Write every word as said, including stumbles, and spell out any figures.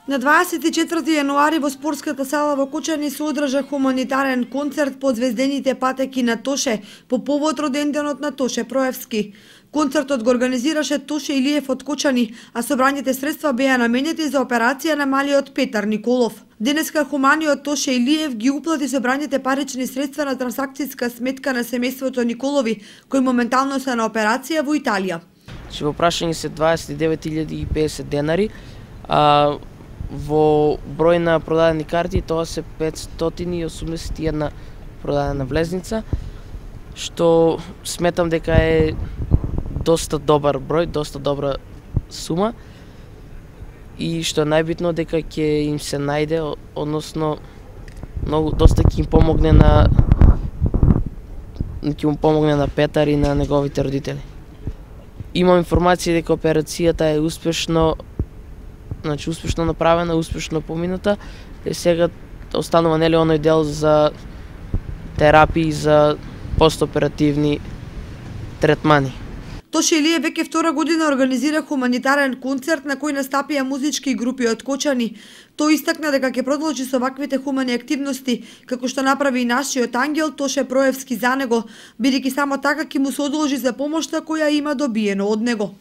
На дваесет и четврти јануари во спортската сала во Кочани се одржа хуманитарен концерт под звездените патеки на Тоше по повод роденденот на Тоше Проевски. Концертот го организираше Тоше Илиев од Кочани, а собраните средства беа наменети за операција на малиот Петар Николов. Денеска хуманиот Тоше Илиев ги уплати собраните парични средства на трансакцијска сметка на семејството Николови, кои моментално се на операција во Италија. Че во прашање се дваесет и девет илјади и педесет денари, а во број на продадени карти тоа се петстотини и осумдесет и една продадена влезница, што сметам дека е доста добар број, доста добра сума и што е најбитно дека ќе им се најде, односно многу доста ќе им помогне на ќе му помогне на Петар и на неговите родители. Имам информација дека операцијата е успешно Значи, успешно направена, успешно помината, и сега останува нели оној дел за терапии, за постоперативни третмани. Тоше Илиев веќе втора година организира хуманитарен концерт на кој настапија музички групи од Кочани. Тој истакна дека ќе продолжи со ваквите хумани активности, како што направи и нашиот ангел Тоше Проевски за него, бидејќи само така ќе му се одолжи за помошта која има добиено од него.